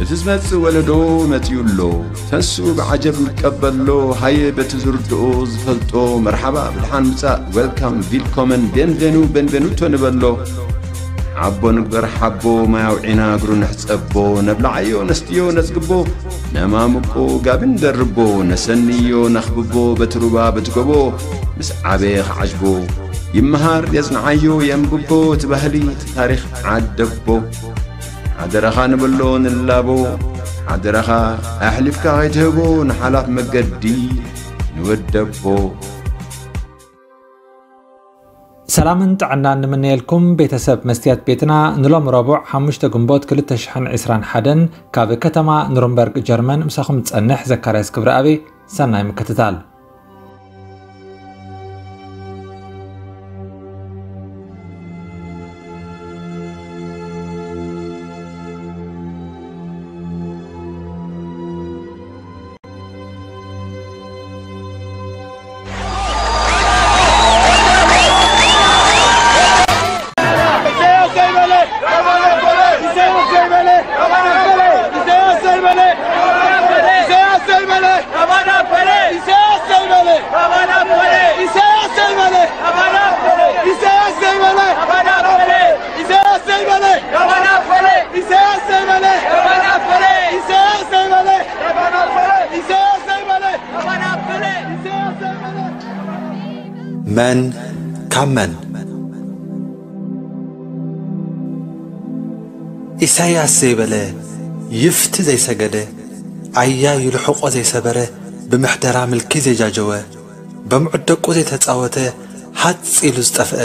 እቲ ዝመጽእ ወለዶ መጺኡ ኣሎ። ተንስኡ ብዓጀብ ንቀበሎ። ሃየ በቲ ዝርድኦ ዝፈልጦ መርሓባ ብድሓን ምጻእ፣ ዌልካም፣ ቪልኮመን፣ ቤንቬኑ፣ ቤንቬኑቶ ንበሎ። ሓቦ ንግበር ሓቦ፣ ማይ ኣውዒና እግሩ ንሕጸቦ። ነብልዓዮ ነስትዮ ነጽግቦ፣ ነማምቆ ጋቢ ንደርቦ። ነሰንዮ ነኽብቦ በቲ ሩባ በቲ ጎቦ። ምስ ዓበየ ክዓጅቦ ይመሃር የጽንዓዮ የንብቦ። እቲ ባህሊ እቲ ታሪኽ ዓደቦ። ሓደራኻ ንብሎ ንላቦ። ሓደራኻ ኣሕሊፍካ ከይትህቦ ንሓላፍ መገዲ ንወደቦ። ሰላምን ጥዕናን ንምነየልኩም ቤተሰብ መስትያት ቤትና። ንሎም ረቡዕ ሓሙሽተ ግንቦት ክልተ ሽሕን ዕስራን ሓደን ካብ ከተማ ኑርንበርግ ጀርመን ምሳኹም ዝጸንሕ ዘካርያስ ክብረኣብ። ሰናይ ምክትታል። መን ካብ መን? ኢሳያስ ዘይበለ፣ ይፍቲ ዘይሰገደ፣ ኣያ ይልሕቆ ዘይሰበረ፣ ብምሕደራ ምልኪ ዘይጃጀወ፣ በምዑት ደቁ ዘይተጻወተ፣ ሃጽ ኢሉ ዝጠፍአ፣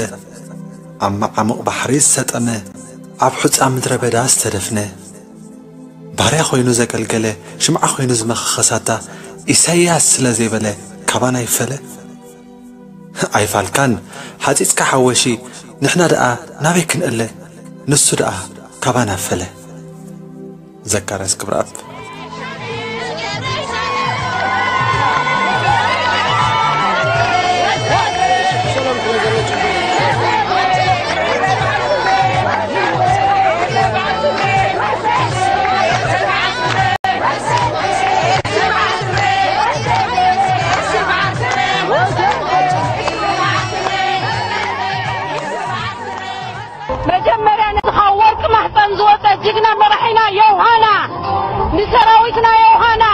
ኣብ መዓሙቕ ባሕሪ ዝሰጠመ፣ ኣብ ሑጻ ምድረ በዳ ዝተደፍነ፣ ባርያ ኮይኑ ዘገልገለ፣ ሽምዓ ኮይኑ ዝመኸኸ ሳታ፣ ኢሳያስ ስለ ዘይበለ ካባና ይፈለ? ኣይፋልካን፣ ሃጺጽካ ሓወሺ፣ ንሕና ደኣ ናበይ ክንእለ? ንሱ ደኣ ካባና ፈለ። ዘካርያስ ክብረኣብ። መጀመርያ ነዚ ካብ ወርቂ ማሕፀን ዝወፀ ጅግና መራሒና ዮውሃና፣ ንሰራዊትና ዮውሃና፣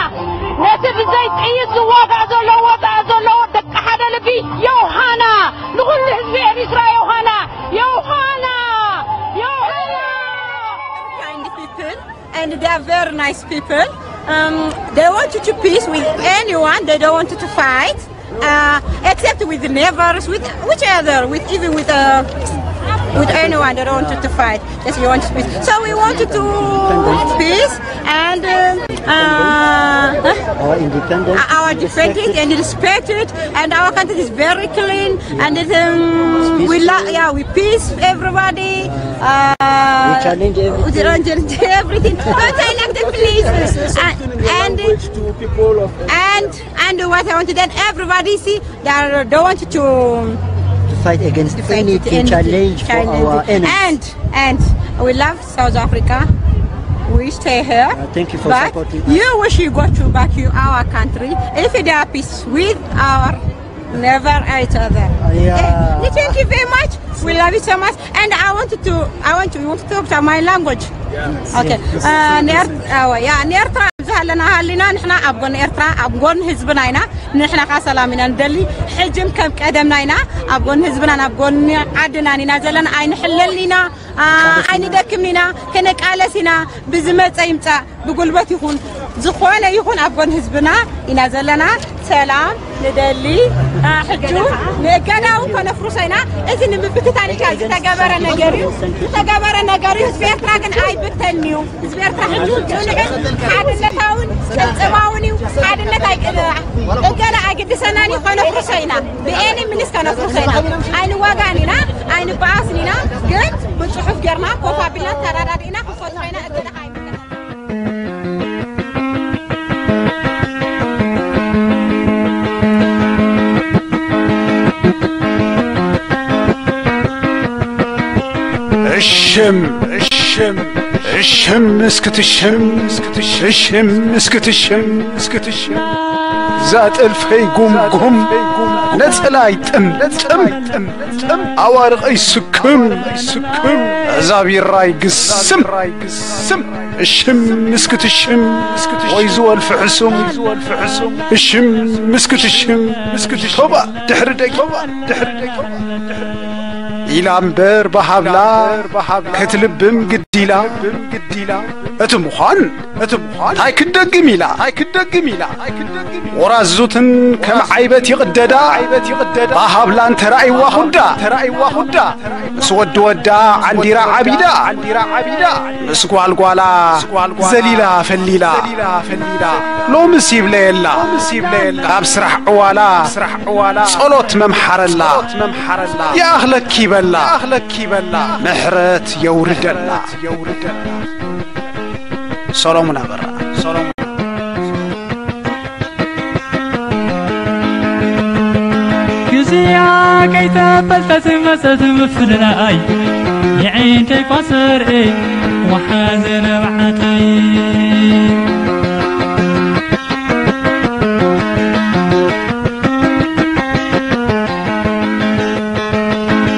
ነቲ ብዘይ ጥይት ዝዋጋእ ዘሎ ወፃኢ ዘሎ ደቂ ሓደ ልቢ ዮውሃና፣ ንኹሉ ህዝቢ ኤሪትራ ዮውሃና፣ ዮውሃና፣ ዮውሃና። Kind people and they are very nice people. Um, they want to peace with anyone. They don't want to fight, uh, except with neighbors, with which other, with even with uh, with anyone. They don't want to fight. Just we want peace. So we wanted to peace and uh, uh, Our independence. our defend it and respect it, and our country is very clean, and it, um, we love, yeah, we peace everybody. Uh, We challenge everything. We challenge everything. Don't say like that, please. And and, To people of and and what I want to tell everybody, see, they are, don't want to to fight against to fight any with any challenge for challenge. Our enemies. And and we love South Africa. We stay here. Uh, thank you for But supporting us. You wish you go to back to our country. If they are peace with our never each other. Uh, yeah. Eh, thank you very much. We love you so much. And I want to, I want to, you want to talk to my language. Okay. Uh, ንኤርትራ፣ ኣዎ፣ ያ፣ ንኤርትራ ኣብዚ ሃለና ሃሊና ንሕና ኣብ ጎኒ ኤርትራ፣ ኣብ ጎኒ ህዝብና ኢና። ንሕና ከኣ ሰላም ኢና ንደሊ። ሕጅን ከም ቀደምና ኢና ኣብ ጎኒ ህዝብና፣ ኣብ ጎኒ ዓድና ኢና ዘለና። ኣይንሕለል ኢና፣ ኣ፣ ኣይንደክምን ኢና፣ ክንቃለስ ኢና። ብዝመጸ ይምጻእ፣ ብጉልበት ይኹን፣ ዝኾነ ይኹን ኣብ ጎኒ ህዝብና ኢና ዘለና። ሰላም ንደሊ። ኣ፣ ሕጂ ንእገዳ እውን ከነፍርሶ ኢና። እዚ ንምብትታን ኢልካ ዝተገበረ ነገር እዩ፣ ዝተገበረ ነገር እዩ። ህዝቢ ኤርትራ ግን ኣይብተን እዩ። ህዝቢ ኤርትራ ሕጂ ጽኑዕን ሓድነታውን ቅልጽማውን እዩ። ሓድነት ኣይቅልዕ። እገዳ ኣይግድሰናን እዩ። ከነፍርሶ ኢና። ብኤኒ ሚንስ ከነፍርሶ ኢና። ኣይንዋጋእን ኢና፣ ኣይንበኣስን ኢና። ግን ብጽሑፍ ጌርና ኮፍ ኣቢልና ተረዳዲእና ክንፈትሖ ኢና። እገዳ ኣይግድሰናን። እሽም እሽም ሽም እስክትሽም፣ ሽም እስክትሽም፣ እስክትሽም። ዛጥልፈይ ጉምጉም፣ ነጸላይ ጥምጥም፣ ኣዋርቐይ ስክም፣ ስክም። እዛ ቢራይ ግስም፣ ሽም እስክትሽም፣ ወይ ዝወልፍ ሕሱም፣ ሽም እስክትሽም፣ ቶባ ድሕሪ ደቂ፣ ድሕሪ ደቂ። ኢላ እምበር ብሃብላ ክትልብም ግዲላ፣ እቲ ምዃን፣ እቲ ምዃን ታይ ክደግም ኢላ፣ ታይ ክደግም ኢላ። ወራዙትን ከም ዓይበት ይቕደዳ፣ ብሃብላን ተራእይዋ ኹዳ፣ ተራእይዋ ኹዳ። ምስ ወዲ ወዳ ዓንዲራ ዓቢዳ፣ ምስ ጓልጓላ ዘሊላ ፈሊላ። ሎምስ ይብለየላ፣ ካብ ስራሕ ዕዋላ ጸሎት መምሓረላ። ይኣኽለኪ በላ፣ ምሕረት የውርደላ። ሰሎሙን ኣበራ። ግዜኣ ከይተፈልጠት መጸት ምፍልላይ፣ የዒንተይ ኳሰርኤ ወሓዘ ነብዓተይ።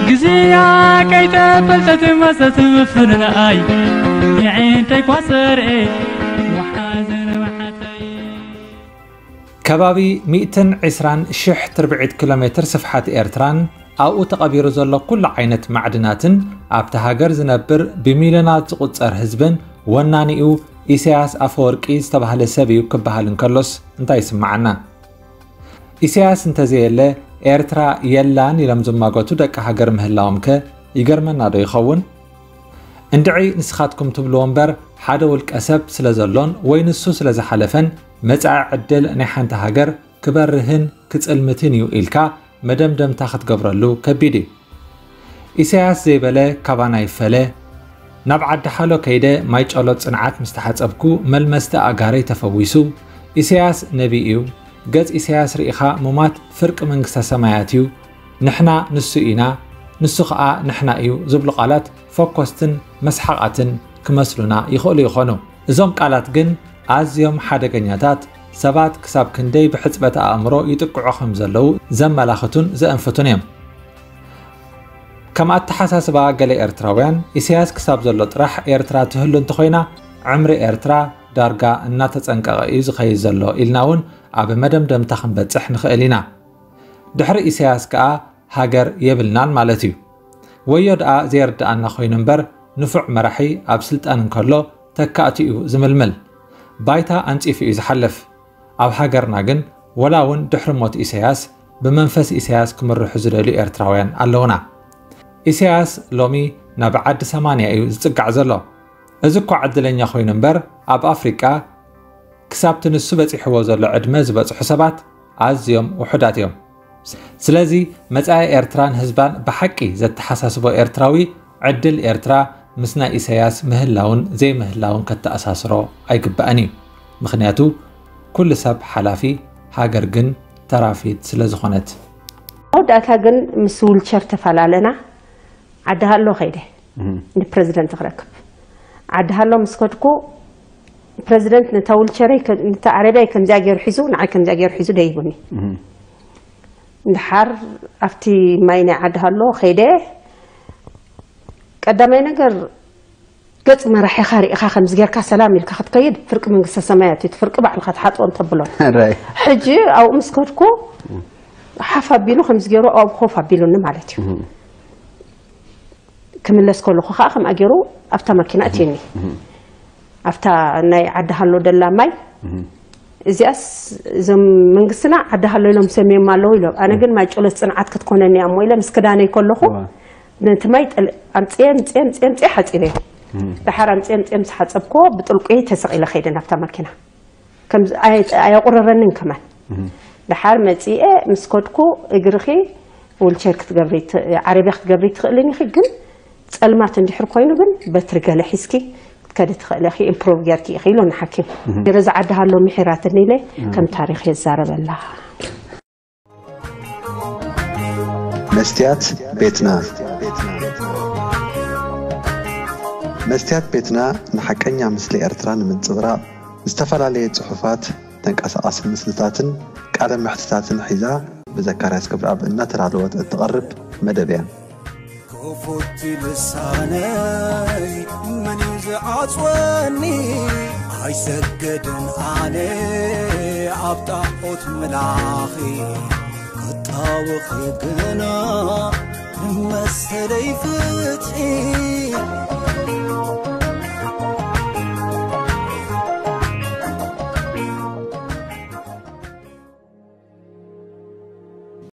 ግዜኣ ከይተፈልጠት መጸት ምፍልላይ፣ የዒንተይ ኳሰርኤ ወሓዘ ነብዓተይ። ከባቢ ሚእትን ዕስራን ሽሕ ትርብዒት ኪሎ ሜትር ስፍሓት ኤርትራን ኣብኡ ተቐቢሩ ዘሎ ኩሉ ዓይነት ማዕድናትን፣ ኣብታ ሃገር ዝነብር ብሚልዮናት ዝቑጸር ህዝብን ወናኒኡ ኢሳያስ ኣፈወርቂ ዝተባህለ ሰብ እዩ ክበሃል እንከሎስ እንታይ ይስምዓና? ኢሳያስ እንተዘየለ ኤርትራ የላን ኢሎም ዝማገቱ ደቂ ሃገር ምህላዎም ከ ይገርመና ዶ ይኸውን? እንድዒ ንስኻትኩም ትብልዎ እምበር፣ ሓደ ውልቀ ሰብ ስለ ዘሎን ወይ ንሱ ስለ ዝሓለፈን መጻኢ ዕድል ናይ ሓንቲ ሃገር ክበርህን ክጽልምትን እዩ ኢልካ መደምደምታ ክትገብረሉ ከቢድ እዩ። ኢሳያስ ዘይበለ ካባና ይፈለ። ናብ ዓዲ ሓሎ ከይደ ማይ ጨሎት ጽንዓት ምስ ተሓጸብኩ፣ መልመስቲ ኣእጋረይ ተፈዊሱ። ኢሳያስ ነቢ እዩ። ገጽ ኢሳያስ ርኢኻ ምሟት ፍርቂ መንግስተ ሰማያት እዩ። ንሕና ንሱ ኢና፣ ንሱ ኸኣ ንሕና እዩ ዝብሉ ቃላት ፈኮስትን መስሓቓትን ክመስሉና ይኽእሉ ይኾኑ። እዞም ቃላት ግን ኣዝዮም ሓደገኛታት፣ ሰባት ክሳብ ክንደይ ብሕጽበት ኣእምሮ ይጥቅዑ ከም ዘለዉ ዘመላኽቱን ዘእንፍቱን እዮም። ከም ኣተሓሳስባ ገለ ኤርትራውያን፣ ኢሳያስ ክሳብ ዘሎ ጥራሕ ኤርትራ ትህሉ እንተኾይና፣ ዕምሪ ኤርትራ ዳርጋ እናተጸንቀቐ እዩ ዝኸይድ ዘሎ ኢልና እውን ኣብ መደምደምታ ክንበጽሕ ንኽእል ኢና። ድሕሪ ኢሳያስ ከኣ ሃገር የብልናን ማለት እዩ። ወዮ ደኣ ዘየርድኣና ኮይኑ እምበር፣ ንፉዕ መራሒ ኣብ ስልጣን እንከሎ ተካእቱ እዩ ዝምልምል። ባይታ ኣንጺፉ እዩ ዝሓልፍ። ኣብ ሃገርና ግን፣ ወላ እውን ድሕሪ ሞት ኢሳያስ፣ ብመንፈስ ኢሳያስ ክምርሑ ዝደልዩ ኤርትራውያን ኣለዉና። ኢሳያስ ሎሚ ናብ ዓዲ ሰማንያ እዩ ዝጽጋዕ ዘሎ። እዚ እኳ ዕድለኛ ኮይኑ እምበር፣ ኣብ ኣፍሪቃ ክሳብቲ ንሱ በጺሕዎ ዘሎ ዕድመ ዝበጽሑ ሰባት ኣዝዮም ውሑዳት እዮም። ስለዚ መጻኢ ኤርትራን ህዝባን ብሓቂ ዘተሓሳስቦ ኤርትራዊ፣ ዕድል ኤርትራ ምስ ናይ ኢሳያስ ምህላውን ዘይምህላውን ከተኣሳስሮ ኣይግባእን እዩ። ምኽንያቱ ኩሉ ሰብ ሓላፊ፣ ሃገር ግን ተራፊት ስለ ዝኾነት። መወዳእታ ግን ምስ ዊልቸር ተፈላለና። ዓዲ ሃሎ ከይደ ንፕረዚደንት ክረክብ። ዓዲ ሃሎ ምስ ከድኩ ፕረዚደንት ነታ ዊልቸረይ ከ- ነታ ዓረብያይ ከምዚኣ ገይሩ ሒዙ ንዓይ ከምዚኣ ገይሩ ሒዙ ደይቡኒ። እንድሓር ኣብቲ ማይ ናይ ዓዲ ሃሎ ከይደ ቀዳማይ ነገር ገጽ መራሒኻ ርኢኻ ከምዚ ጌርካ ሰላም ኢልካ ክትከይድ ፍርቂ መንግስተ ሰማያት እዩ፣ እቲ ፍርቂ ባዕልኻ ትሓጥቦ እንተብሎን። ሕጂ ኣብኡ ምስ ከድኩ ሓፍ ኣቢሉ ከምዚ ገይሩ ኣብኡ ኮፍ ኣቢሉኒ ማለት እዩ። ክምለስ ከለኹ ከዓ ከምኣ ገይሩ ኣብታ ማኪና እትየኒ። ኣብታ ናይ ዓዲ ሃሎ ደላ ማይ እዚኣስ እዞም መንግስትና ዓዲ ሃሎ ኢሎም ሰሚዮም ኣለዉ ኢሎም። ኣነ ግን ማይ ጨሎት ፅንዓት ክትኮነኒ እያ እሞ ኢለ ምስ ክዳነይ ከለኹ ነቲ ማይ ጠል- ኣምፅየ ኣምፅየ ኣምፅየ ኣምፅየ ሓፂበዮ። ደሓር ኣምፅየ ኣምፅየ ምስ ሓፀብክዎ ብጥልቁ ተሰቒለ ከይደ ናብታ ማኪና። ከም ኣየቁረረንን ከማን። ደሓር መፂኤ ምስ ከድኩ እግርኺ ዊልቸር ክትገብሪ ት- ዓረብያ ክትገብሪ ትኽእልን ኢኺ ግን ጸልማት እንድሕር ኮይኑ ግን በትሪ ገለ ሒዝኪ ክትከዲ ትኽእሊ ኢኺ ኢምፕሮቭ ጌርኪ ኢኺ ኢሎኒ ሓኪም። ገለ ዝዓዲ ሃሎ ምሒራትኒ ኢለ ከም ታሪኽ የዛረበላ። መስትያት ቤትና። መስትያት ቤትና ንሓቀኛ ምስሊ ኤርትራ ንምንጽብራቕ ዝተፈላለየ ጽሑፋት፣ ተንቀሳቓሲ ምስልታትን ቃለ መሕትታትን ሒዛ ብዘካርያስ ገብረኣብ እናተዳለወት እትቐርብ መደብ እያ። ክፉት ልሳነይ መን እዩ ዝዓጽወኒ? ኣይሰገድን ኣነ ኣብ ጣዖት ምላኺ ክጣወኺ ግና ንመሰለይ ፍትሒ